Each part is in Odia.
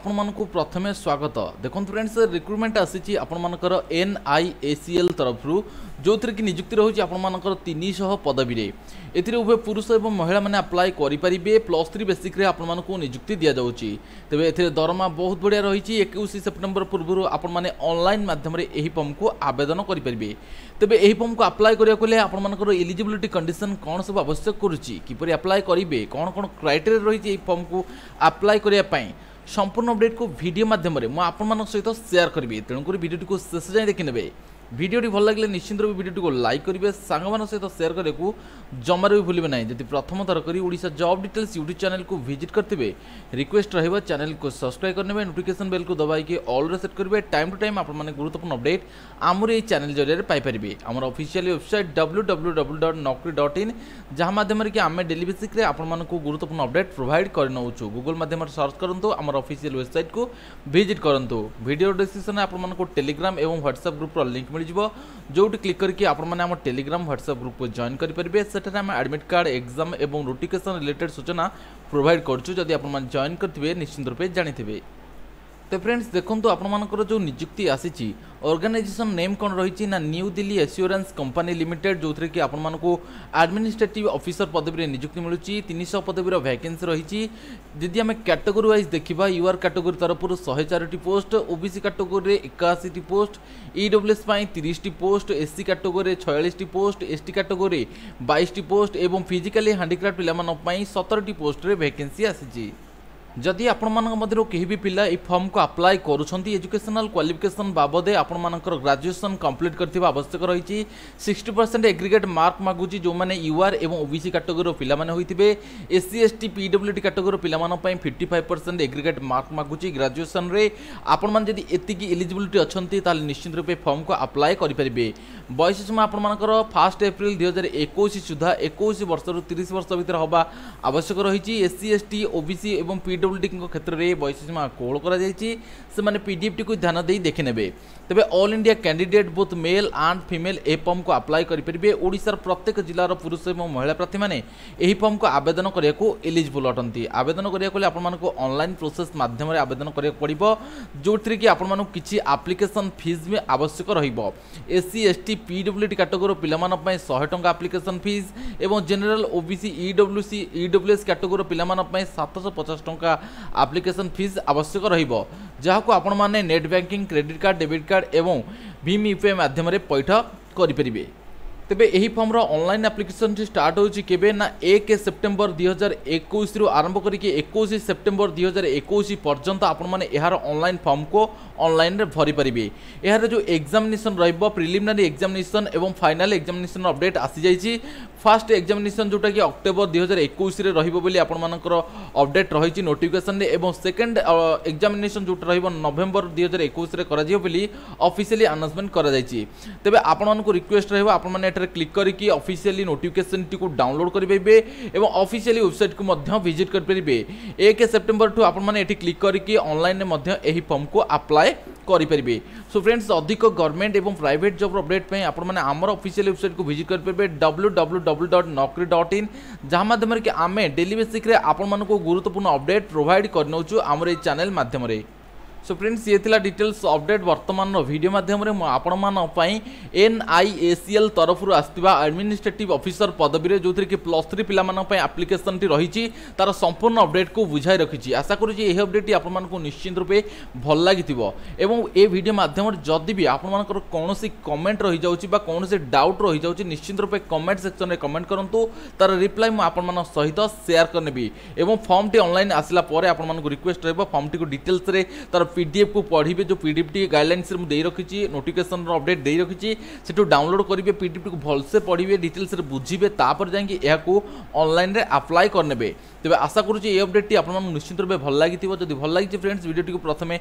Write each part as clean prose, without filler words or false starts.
ଆପଣମାନଙ୍କୁ ପ୍ରଥମେ ସ୍ୱାଗତ। ଦେଖନ୍ତୁ ଫ୍ରେଣ୍ଡସ୍, ରିକ୍ରୁଟମେଣ୍ଟ ଆସିଛି ଆପଣମାନଙ୍କର ଏନ୍ଆଇଏସିଏଲ୍ ତରଫରୁ, ଯେଉଁଥିରେ କି ନିଯୁକ୍ତି ରହୁଛି ଆପଣମାନଙ୍କର 300 ପଦବୀରେ। ଏଥିରେ ଉଭୟ ପୁରୁଷ ଏବଂ ମହିଳାମାନେ ଆପ୍ଲାଏ କରିପାରିବେ। +3 ବେସିକ୍ରେ ଆପଣମାନଙ୍କୁ ନିଯୁକ୍ତି ଦିଆଯାଉଛି। ତେବେ ଏଥିରେ ଦରମା ବହୁତ ବଢ଼ିଆ ରହିଛି। 21 ସେପ୍ଟେମ୍ବର ପୂର୍ବରୁ ଆପଣମାନେ ଅନଲାଇନ୍ ମାଧ୍ୟମରେ ଏହି ଫର୍ମକୁ ଆବେଦନ କରିପାରିବେ। ତେବେ ଏହି ଫର୍ମକୁ ଆପ୍ଲାଏ କରିବାକୁ ହେଲେ ଆପଣମାନଙ୍କର ଏଲିଜିବିଲିଟି କଣ୍ଡିସନ୍ କ'ଣ ସବୁ ଆବଶ୍ୟକ କରୁଛି, କିପରି ଆପ୍ଲାଏ କରିବେ, କ'ଣ କ'ଣ କ୍ରାଇଟେରିଆ ରହିଛି ଏହି ଫର୍ମକୁ ଆପ୍ଲାଏ କରିବା ପାଇଁ, ସମ୍ପୂର୍ଣ୍ଣ ଅପଡେଟ୍କୁ ଭିଡ଼ିଓ ମାଧ୍ୟମରେ ମୁଁ ଆପଣମାନଙ୍କ ସହିତ ସେୟାର କରିବି। ତେଣୁକରି ଭିଡ଼ିଓଟିକୁ ଶେଷ ଯାଏଁ ଦେଖିନେବେ। ଭିଡ଼ିଓଟି ଭଲ ଲାଗିଲେ ନିଶ୍ଚିନ୍ତ ରୂପେ ଭିଡ଼ିଓଟିକୁ ଲାଇକ୍ କରିବେ, ସାଙ୍ଗମାନଙ୍କ ସହିତ ସେୟାର କରିବାକୁ ଜମାରୁ ବି ଭୁଲିବେ ନାହିଁ। ଯଦି ପ୍ରଥମ ଥର କରି ଓଡ଼ିଶା ଜବ୍ ଡିଟେଲ୍ସ ୟୁଟ୍ୟୁବ୍ ଚ୍ୟାନେଲକୁ ଭିଜିଟ୍ କରିଥିବେ, ରିକ୍ୱେଷ୍ଟ ରହିବ ଚ୍ୟାନେଲକୁ ସବସ୍କ୍ରାଇବ୍ କରିନେବେ, ନୋଟିଫିକେସନ୍ ବେଲ୍କୁ ଦବାଇକି ଅଲ୍ରେ ସେଟ୍ କରିବେ। ଟାଇମ୍ ଟୁ ଟାଇମ୍ ଆପଣମାନେ ଗୁରୁତ୍ୱପୂର୍ଣ୍ଣ ଅପଡେଟ୍ ଆମର ଏହି ଚ୍ୟାନେଲ ଜରିଆରେ ପାଇପାରିବେ। ଆମର ଅଫିସିଆଲି ୱେବସାଇଟ୍ www.naukri.in, ଯାହା ମାଧ୍ୟମରେ କି ଆମେ ଡେଲି ବେସିକ୍ରେ ଆପଣମାନଙ୍କୁ ଗୁରୁତ୍ୱପୂର୍ଣ୍ଣ ଅପଡେଟ୍ ପ୍ରୋଭାଇଡ଼ କରିନେଉଛୁ। ଗୁଗଲ ମାଧ୍ୟମରେ ସର୍ଚ୍ଚ କରନ୍ତୁ, ଆମର ଅଫିସିଆଲ ୱେବସାଇଟ୍କୁ ଭିଜିଟ୍ କରନ୍ତୁ। ଭିଡ଼ିଓ ଡିସ୍କ୍ରିପ୍ସନରେ ଆପଣମାନଙ୍କୁ ଟେଲିଗ୍ରାମ ଏବଂ ହ୍ୱାଟ୍ସଆପ୍ ଗ୍ରୁପ୍ର ଲିଙ୍କ୍ ମିଳିଯିବ, ଯେଉଁଠି କ୍ଲିକ୍ କରିକି ଆପଣମାନେ ଆମ ଟେଲିଗ୍ରାମ, ହ୍ୱାଟ୍ସଆପ୍ ଗ୍ରୁପ୍କୁ ଜଏନ୍ କରିପାରିବେ। ସେଠାରେ ଆମେ ଆଡ଼ମିଟ୍ କାର୍ଡ଼, ଏକ୍ଜାମ୍ ଏବଂ ନୋଟିଫିକେସନ୍ ରିଲେଟେଡ୍ ସୂଚନା ପ୍ରୋଭାଇଡ଼ କରୁଛୁ। ଯଦି ଆପଣମାନେ ଜଏନ୍ କରିଥିବେ, ନିଶ୍ଚିନ୍ତ ରୂପେ ଜାଣିଥିବେ। ତ ଫ୍ରେଣ୍ଡସ୍, ଦେଖନ୍ତୁ, ଆପଣମାନଙ୍କର ଯେଉଁ ନିଯୁକ୍ତି ଆସିଛି, ଅର୍ଗାନାଇଜେସନ୍ ନେମ୍ କ'ଣ ରହିଛି ନା new Delhi assurance company limited, ଯେଉଁଥିରେ କି ଆପଣମାନଙ୍କୁ ଆଡମିନିଷ୍ଟ୍ରେଟିଭ୍ ଅଫିସର ପଦବୀରେ ନିଯୁକ୍ତି ମିଳୁଛି। 300 ପଦବୀର ଭ୍ୟାକେନ୍ସି ରହିଛି। ଯଦି ଆମେ କ୍ୟାଟେଗୋରୀ ୱାଇଜ୍ ଦେଖିବା, ୟୁଆର୍ କ୍ୟାଟେଗୋରୀ ତରଫରୁ 104ଟି ପୋଷ୍ଟ, ଓବିସି କ୍ୟାଟେଗୋରୀରେ 81ଟି ପୋଷ୍ଟ, ଇଡବ୍ଲ୍ୟୁଏସ୍ ପାଇଁ 30ଟି ପୋଷ୍ଟ, ଏସ୍ସି କ୍ୟାଟେଗୋରୀରେ 46ଟି ପୋଷ୍ଟ, ଏସ୍ଟି କ୍ୟାଟେଗୋରୀ 22ଟି ପୋଷ୍ଟ ଏବଂ ଫିଜିକାଲି ହ୍ୟାଣ୍ଡିକ୍ରାଫ୍ଟ ପିଲାମାନଙ୍କ ପାଇଁ 17ଟି ପୋଷ୍ଟରେ ଭ୍ୟାକେନ୍ସି ଆସିଛି। ଯଦି ଆପଣମାନଙ୍କ ମଧ୍ୟରୁ କେହି ବି ପିଲା ଏହି ଫର୍ମକୁ ଆପ୍ଲାଏ କରୁଛନ୍ତି, ଏଜୁକେସନାଲ କ୍ୱାଲିଫିକେସନ୍ ବାବଦେ ଆପଣମାନଙ୍କର ଗ୍ରାଜୁଏସନ୍ କମ୍ପ୍ଲିଟ୍ କରିଥିବା ଆବଶ୍ୟକ ରହିଛି। 60% ଏଗ୍ରିଗେଟ୍ ମାର୍କ ମାଗୁଛି ଯେଉଁମାନେ ୟୁଆର୍ ଏବଂ ଓବିସି କାଟେଗୋରୀର ପିଲାମାନେ ହୋଇଥିବେ। ଏସ୍ସି, ଏସ୍ଟି, ପିଡବ୍ଲ୍ୟୁଡି କାଟେଗୋରୀର ପିଲାମାନଙ୍କ ପାଇଁ 55% ଏଗ୍ରିଗେଟ୍ ମାର୍କ ମାଗୁଛି ଗ୍ରାଜୁଏସନ୍ରେ। ଆପଣମାନେ ଯଦି ଏତିକି ଏଲିଜିବିଲିଟି ଅଛନ୍ତି, ତାହେଲେ ନିଶ୍ଚିତ ରୂପେ ଫର୍ମକୁ ଆପ୍ଲାଏ କରିପାରିବେ। ବୟସ ସୀମା ଆପଣମାନଙ୍କର 1 ଏପ୍ରିଲ 2021 ସୁଦ୍ଧା 21 ବର୍ଷରୁ 30 ବର୍ଷ ଭିତରେ ହେବା ଆବଶ୍ୟକ ରହିଛି। ଏସ୍ସି, ଏସ୍ଟି, ଓବିସି ଏବଂ ପିଡବ୍ଲ୍ୟୁଡିଙ୍କ କ୍ଷେତ୍ରରେ ବୟସ ସୀମା କୋହଳ କରାଯାଇଛି। ସେମାନେ ପିଡିଏଫ୍ଟିକୁ ଧ୍ୟାନ ଦେଇ ଦେଖିନେବେ। ତେବେ all India candidate, both male and female, ଏ ଫର୍ମକୁ ଆପ୍ଲାଏ କରିପାରିବେ। ଓଡ଼ିଶାର ପ୍ରତ୍ୟେକ ଜିଲ୍ଲାର ପୁରୁଷ ଏବଂ ମହିଳା ପ୍ରାର୍ଥୀମାନେ ଏହି ଫର୍ମକୁ ଆବେଦନ କରିବାକୁ ଏଲିଜିବଲ୍ ଅଟନ୍ତି। ଆବେଦନ କରିବାକୁ ହେଲେ ଆପଣମାନଙ୍କୁ ଅନଲାଇନ୍ ପ୍ରୋସେସ୍ ମାଧ୍ୟମରେ ଆବେଦନ କରିବାକୁ ପଡ଼ିବ, ଯେଉଁଥିରେ କି ଆପଣମାନଙ୍କୁ କିଛି ଆପ୍ଲିକେସନ୍ ଫିସ୍ ବି ଆବଶ୍ୟକ ରହିବ। ଏସ୍ସି, ଏସ୍ଟି, ପିଡବ୍ଲ୍ୟୁଡି କାଟେଗୋରୀର ପିଲାମାନଙ୍କ ପାଇଁ 100 ଟଙ୍କା ଆପ୍ଲିକେସନ୍ ଫିସ୍ ଏବଂ ଜେନେରାଲ, ଓବିସି, ଇଡବ୍ଲ୍ୟୁସି, ଇଡବ୍ଲ୍ୟୁଏସ୍ କାଟେଗୋରୀର ପିଲାମାନଙ୍କ ପାଇଁ 750 ଟଙ୍କା ଆପ୍ଲିକେସନ୍ ଫିସ୍ ଆବଶ୍ୟକ ରହିବ, ଯାହାକୁ ଆପଣମାନେ net banking, credit card, debit card ଏବଂ ଭୀମ୍ ୟୁପିଆଇ ମାଧ୍ୟମରେ ପଇଠ କରିପାରିବେ। ତେବେ ଏହି ଫର୍ମର ଅନଲାଇନ୍ ଆପ୍ଲିକେସନଟି ଷ୍ଟାର୍ଟ ହେଉଛି କେବେ ନା 1 ସେପ୍ଟେମ୍ବର 2021ରୁ ଆରମ୍ଭ କରିକି 21 ସେପ୍ଟେମ୍ବର 2021 ପର୍ଯ୍ୟନ୍ତ ଆପଣମାନେ ଏହାର ଅନଲାଇନ୍ ଫର୍ମକୁ ଅନଲାଇନ୍ରେ ଭରିପାରିବେ। ଏହାର ଯେଉଁ ଏକ୍ଜାମିନେସନ୍ ରହିବ, ପ୍ରିଲିମିନାରୀ ଏକ୍ଜାମିନେସନ୍ ଏବଂ ଫାଇନାଲ୍ ଏକ୍ଜାମିନେସନ୍ ଅପଡେଟ୍ ଆସିଯାଇଛି। ଫାର୍ଷ୍ଟ ଏକ୍ଜାମିନେସନ୍ ଯେଉଁଟାକି ଅକ୍ଟୋବର 2021ରେ ରହିବ ବୋଲି ଆପଣମାନଙ୍କର ଅପଡେଟ୍ ରହିଛି ନୋଟିଫିକେସନରେ ଏବଂ ସେକେଣ୍ଡ ଏକ୍ଜାମିନେସନ୍ ଯେଉଁଟା ରହିବ, ନଭେମ୍ବର 2021ରେ କରାଯିବ ବୋଲି ଅଫିସିଆଲି ଆନାଉନ୍ସମେଣ୍ଟ କରାଯାଇଛି। ତେବେ ଆପଣମାନଙ୍କୁ ରିକ୍ୱେଷ୍ଟ ରହିବ, ଆପଣମାନେ ଏଠାରେ କ୍ଲିକ୍ କରିକି ଅଫିସିଆଲି ନୋଟିଫିକେସନଟିକୁ ଡାଉନଲୋଡ୍ କରିପାରିବେ ଏବଂ ଅଫିସିଆଲି ୱେବସାଇଟ୍କୁ ମଧ୍ୟ ଭିଜିଟ୍ କରିପାରିବେ। 1 ସେପ୍ଟେମ୍ବରଠୁ ଆପଣମାନେ ଏଠି କ୍ଲିକ୍ କରିକି ଅନଲାଇନ୍ରେ ମଧ୍ୟ ଏହି ଫର୍ମକୁ ଆପ୍ଲାଏ କରିପାରିବେ। ସୋ ଫ୍ରେଣ୍ଡସ୍, ଅଧିକ ଗଭର୍ଣ୍ଣମେଣ୍ଟ ଏବଂ ପ୍ରାଇଭେଟ୍ ଜବ୍ର ଅପଡେଟ୍ ପାଇଁ ଆପଣମାନେ ଆମର ଅଫିସିଆଲି ୱେବସାଇଟ୍କୁ ଭିଜିଟ୍ କରିପାରିବେ, www.naukri.in, ଯାହା ମାଧ୍ୟମରେ କି ଆମେ ଡେଲି ବେସିକ୍ରେ ଆପଣମାନଙ୍କୁ ଗୁରୁତ୍ୱପୂର୍ଣ୍ଣ ଅପଡେଟ୍ ପ୍ରୋଭାଇଡ଼ କରିନେଉଛୁ ଆମର ଏହି ଚ୍ୟାନେଲ୍ ମାଧ୍ୟମରେ। ସୋ ଫ୍ରେଣ୍ଡସ୍, ଇଏ ଥିଲା ଡିଟେଲ୍ସ ଅପଡେଟ୍। ବର୍ତ୍ତମାନର ଭିଡ଼ିଓ ମାଧ୍ୟମରେ ମୁଁ ଆପଣମାନଙ୍କ ପାଇଁ ଏନ୍ଆଇଏସିଏଲ୍ ତରଫରୁ ଆସିଥିବା ଆଡମିନିଷ୍ଟ୍ରେଟିଭ୍ ଅଫିସର ପଦବୀରେ, ଯେଉଁଥିରେ କି +3 ପିଲାମାନଙ୍କ ପାଇଁ ଆପ୍ଲିକେସନଟି ରହିଛି, ତାର ସମ୍ପୂର୍ଣ୍ଣ ଅପଡେଟ୍କୁ ବୁଝାଇ ରଖିଛି। ଆଶା କରୁଛି ଏହି ଅପଡେଟ୍ଟି ଆପଣମାନଙ୍କୁ ନିଶ୍ଚିନ୍ତ ରୂପେ ଭଲ ଲାଗିଥିବ ଏବଂ ଏ ଭିଡ଼ିଓ ମାଧ୍ୟମରେ ଯଦି ବି ଆପଣମାନଙ୍କର କୌଣସି କମେଣ୍ଟ ରହିଯାଉଛି ବା କୌଣସି ଡାଉଟ୍ ରହିଯାଉଛି, ନିଶ୍ଚିନ୍ତ ରୂପେ କମେଣ୍ଟ ସେକ୍ସନରେ କମେଣ୍ଟ କରନ୍ତୁ। ତାର ରିପ୍ଲାଏ ମୁଁ ଆପଣମାନଙ୍କ ସହିତ ସେୟାର କରିନେବି। ଏବଂ ଫର୍ମଟି ଅନଲାଇନ୍ ଆସିଲା ପରେ ଆପଣମାନଙ୍କୁ ରିକ୍ୱେଷ୍ଟ ରହିବ, ଫର୍ମଟିକୁ ଡିଟେଲ୍ସରେ ତାର ପିଡିଏଫ୍କୁ ପଢ଼ିବେ। ଯେଉଁ ପିଡିଏଫ୍ଟି ଗାଇଡ଼ଲାଇନ୍ସରେ ମୁଁ ଦେଇ ରଖିଛି, ନୋଟିଫିକେସନ୍ର ଅପଡେଟ୍ ଦେଇ ରଖିଛି, ସେଠୁ ଡାଉନଲୋଡ଼ କରିବେ, ପିଡିଏଫ୍ଟିକୁ ଭଲସେ ପଢ଼ିବେ, ଡିଟେଲ୍ସରେ ବୁଝିବେ, ତାପରେ ଯାଇକି ଏହାକୁ ଅନଲାଇନ୍ରେ ଆପ୍ଲାଏ କରିନେବେ। ତେବେ ଆଶା କରୁଛି ଏହି ଅପଡେଟ୍ଟି ଆପଣମାନଙ୍କୁ ନିଶ୍ଚିତ ରୂପେ ଭଲ ଲାଗିଥିବ। ଯଦି ଭଲ ଲାଗିଛି ଫ୍ରେଣ୍ଡସ୍, ଭିଡ଼ିଓଟିକୁ ପ୍ରଥମେ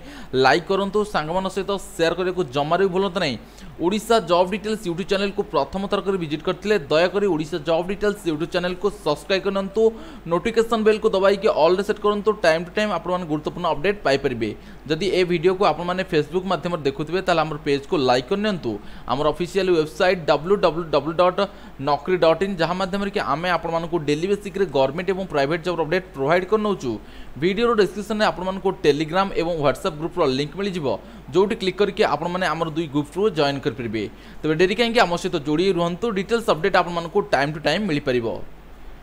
ଲାଇକ୍ କରନ୍ତୁ, ସାଙ୍ଗମାନଙ୍କ ସହିତ ସେୟାର କରିବାକୁ ଜମାରୁ ବି ଭୁଲନ୍ତୁ ନାହିଁ। ଓଡ଼ିଶା ଜବ୍ ଡିଟେଲ୍ସ ୟୁଟ୍ୟୁବ୍ ଚ୍ୟାନେଲକୁ ପ୍ରଥମ ଥର କରି ଭିଜିଟ୍ କରିଥିଲେ, ଦୟାକରି ଓଡ଼ିଶା ଜବ୍ ଡିଟେଲ୍ସ ୟୁଟ୍ୟୁବ୍ ଚ୍ୟାନେଲକୁ ସବସ୍କ୍ରାଇବ୍ କରିନିଅନ୍ତୁ, ନୋଟିଫିକେସନ୍ ବେଲ୍କୁ ଦବାଇକି ଅଲ୍ରେ ସେଟ୍ କରନ୍ତୁ। ଟାଇମ୍ ଟୁ ଟାଇମ୍ ଆପଣମାନେ ଗୁରୁତ୍ୱପୂର୍ଣ୍ଣ ଅପଡେଟ୍ ପାଇପାରିବେ। ଯଦି ଯଦି ଏ ଭିଡ଼ିଓକୁ ଆପଣମାନେ ଫେସବୁକ୍ ମାଧ୍ୟମରେ ଦେଖୁଥିବେ, ତାହେଲେ ଆମର ପେଜ୍କୁ ଲାଇକ୍ କରିନିଅନ୍ତୁ। ଆମର ଅଫିସିଆଲ ୱେବସାଇଟ୍ www.naukri.in, ଯାହା ମାଧ୍ୟମରେ କି ଆମେ ଆପଣମାନଙ୍କୁ ଡେଲି ବେସିକ୍ରେ ଗଭର୍ଣ୍ଣମେଣ୍ଟ ଏବଂ ପ୍ରାଇଭେଟ୍ ଜବ୍ର ଅପଡେଟ୍ ପ୍ରୋଭାଇଡ଼ କରିନେଉଛୁ। ଭିଡ଼ିଓର ଡିସ୍କ୍ରିପ୍ସନରେ ଆପଣମାନଙ୍କୁ ଟେଲିଗ୍ରାମ ଏବଂ ହ୍ୱାଟ୍ସଆପ୍ ଗ୍ରୁପ୍ର ଲିଙ୍କ୍ ମିଳିଯିବ, ଯେଉଁଠି କ୍ଲିକ୍ କରିକି ଆପଣମାନେ ଆମର ଦୁଇ ଗ୍ରୁପ୍ରୁ ଜଏନ୍ କରିପାରିବେ। ତେବେ ଡେରି କାହିଁକି, ଆମ ସହିତ ଯୋଡ଼ି ରୁହନ୍ତୁ, ଡିଟେଲ୍ସ ଅପଡେଟ୍ ଆପଣମାନଙ୍କୁ ଟାଇମ୍ ଟୁ ଟାଇମ୍ ମିଳିପାରିବ।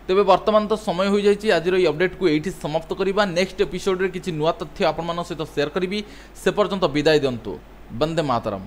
ତେବେ ବର୍ତ୍ତମାନ ତ ସମୟ ହୋଇଯାଇଛି ଆଜିର ଏଇ ଅପଡେଟ୍କୁ ଏଇଠି ସମାପ୍ତ କରିବା। ନେକ୍ସଟ ଏପିସୋଡ଼ରେ କିଛି ନୂଆ ତଥ୍ୟ ଆପଣମାନଙ୍କ ସହିତ ସେୟାର କରିବି, ସେ ପର୍ଯ୍ୟନ୍ତ ବିଦାୟ ଦିଅନ୍ତୁ। ବନ୍ଦେ ମାତରମ୍।